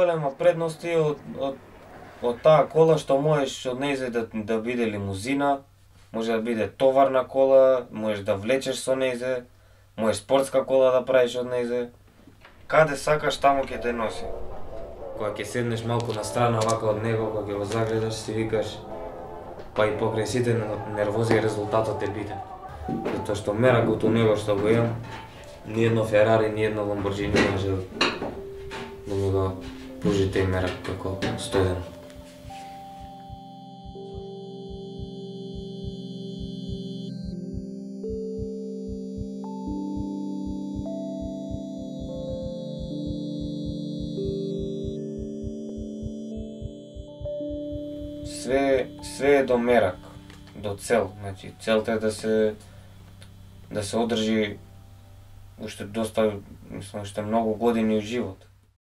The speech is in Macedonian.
најголема предност е од таа кола што можеш од нејзе да биде лимузина, може да биде товарна кола, можеш да влечеш со нејзе, можеш спортска кола да правиш од нејзе. Каде сакаш таму ќе те носи. Кога ќе седнеш малку на страна вака од него, кога ќе го загледаш, си викаш па и покрај сите нервози резултатот е битен. Затоа што меракот у него што го имам, ни едно Ферари, ни едно Ламборџини не може да ми го пружи тој мерак како 101. Све е до мерак, до цел. Значи, целта е да се одржи уште доста, мислам, уште многу години у живот.